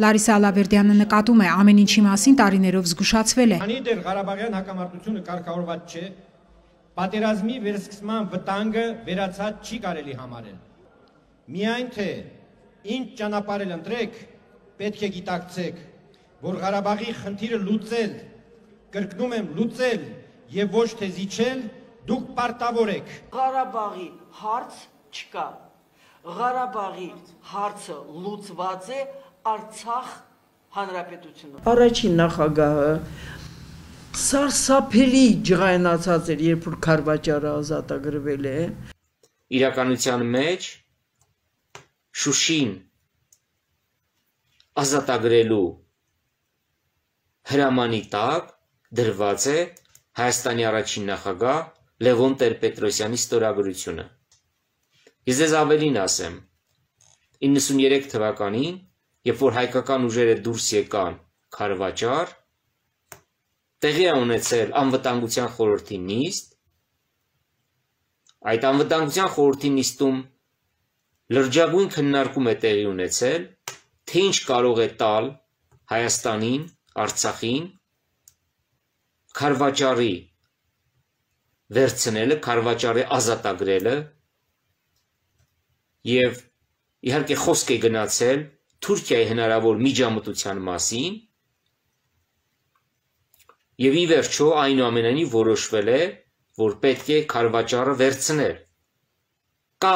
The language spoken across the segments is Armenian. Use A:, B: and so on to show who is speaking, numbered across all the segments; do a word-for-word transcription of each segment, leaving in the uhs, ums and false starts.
A: Լարիսա Ալավերդյանը նկատում է, ամեն ինչի մասին տարիներով զգուշացվել է։
B: Քանի դեռ Ղարաբաղյան հակամարտությունը կարգավորված չէ, պատերազմի վերսկսման վտանգը վերացած չի կարելի համարել։ Միայն թե ինչ ճանապարհ ընտրեք, պետք է գիտակցեք, որ Ղարաբաղի խնդիրը լուծել, կրկնում եմ լուծել եւ ոչ թե զիջել, դուք պարտավոր եք։
C: Ղարաբաղի հարց չկա։ Ղարաբաղի հարցը լուծված է Արցախ հանրապետությունում։ Առաջին նախագահը սարսափելի ջղայնացած էր, երբ որ Քարվաճարը ազատագրվել է։
D: Իրականության մեջ Շուշին ազատագրելու հրամանի տակ դրված է Հայաստանի առաջին նախագահ Լևոն Տեր-Պետրոսյանի ստորագրությունը։ Ես ձեզ ավելին ասեմ, իննսուներեք թվականին, երբ որ հայկական ուժերը դուրս եկան Քարվաճար, տեղի է ունեցել անվտանգության խորհրդի նիստ, այդ անվտանգության խորհրդի նիստում լրջագույն քննարկում է տեղի ունեցել, թե ինչ կարող է տալ Հայաստանին, Արցախին, Քարվաճարի վերցնելը, Քարվաճարի ազատագրելը եւ իհարկե խոսք է գնացել Թուրքիայի հնարավոր միջամտության մասին եւ ի վերջո այնուամենայնիվ որոշվել է, որ պետք է Քարվաճարը վերցնել։ Կա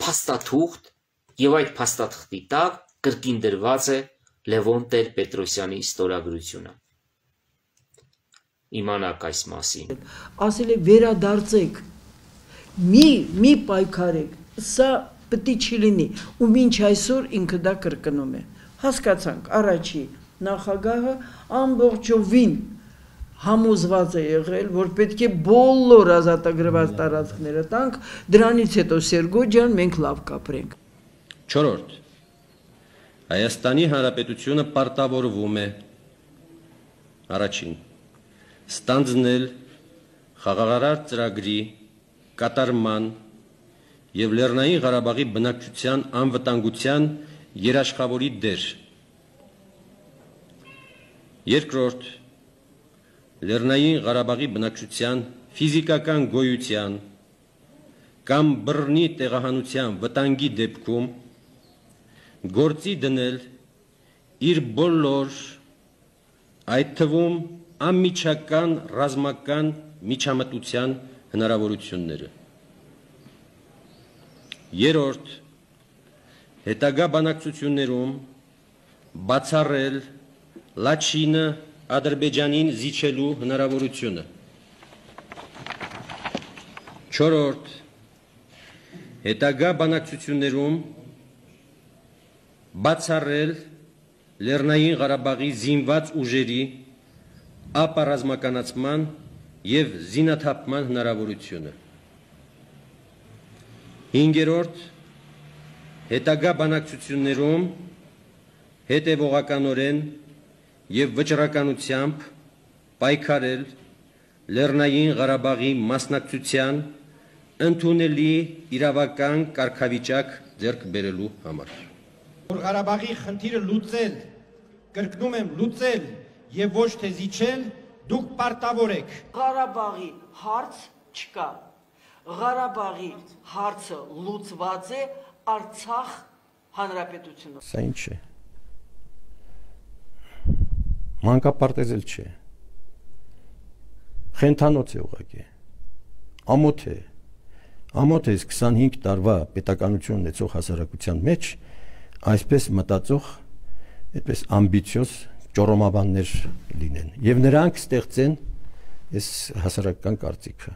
D: փաստաթուղթ եւ այդ փաստաթղթի տակ կրկին դրված է Լևոն Տեր-Պետրոսյանի ստորագրությունը։ Իմանաք այս մասին։
C: Ասել է վերադարձեք, մի մի պայքարեք, սա պետք չի լինի, ու մինչ այսօր ինքը դա կրկնում է։ Հասկացանք, առաջի նախագահը ամբողջովին համոզված է եղել, որ պետք է բոլոր ազատագրված տարածքները տանք, դրանից հետո Սերգո ջան, մենք լավ կապրենք։
E: Չորրորդ Հայաստանի Հանրապետությունը պարտավորվում է առաջին ստանձնել խաղաղարար ծրագրի կատարման եւ Լեռնային Ղարաբաղի բնակչության անվտանգության երաշխավորի դեր։ Երկրորդ Լեռնային Ղարաբաղի բնակչության ֆիզիկական գոյության կամ բռնի տեղահանության վտանգի դեպքում գործի դնել իր բոլոր այդ թվում անմիջական ռազմական միջամտության հնարավորությունները։ Երրորդ հետագա բանակցություններում բացառել Լաչինը Ադրբեջանին զիջելու հնարավորությունը։ Չորրորդ հետագա բանակցություններում բացառել Լեռնային Ղարաբաղի զինված ուժերի ապառազմականացման եւ զինաթափման հնարավորությունը։ Հինգերորդ հետագա բանակցություններում հետևողականորեն եւ վճռականությամբ պայքարել Լեռնային Ղարաբաղի մասնակցության ընդունելի իրավական կարգավիճակ ձեռք բերելու համար։
B: Որ Ղարաբաղի խնդիրը լուծել, կրկնում եմ լուծել եւ ոչ թե զիջել, դուք պարտավոր եք։
C: Ղարաբաղի հարց չկա։ Ղարաբաղի հարցը լուծված է Արցախ հանրապետությունում։
F: Սա ինչ է։ Մանկապարտեզել չէ։ Խենթանոց է ուղղակի։ Ամոթ է։ Ամոթ է քսանհինգ տարվա պետականություն ունեցող հասարակության մեջ այսպես մտածող, այդպես ամբիցիոզ ճորոմաբաններ լինեն եւ նրանք ստեղծեն այս հասարակական կարծիքը։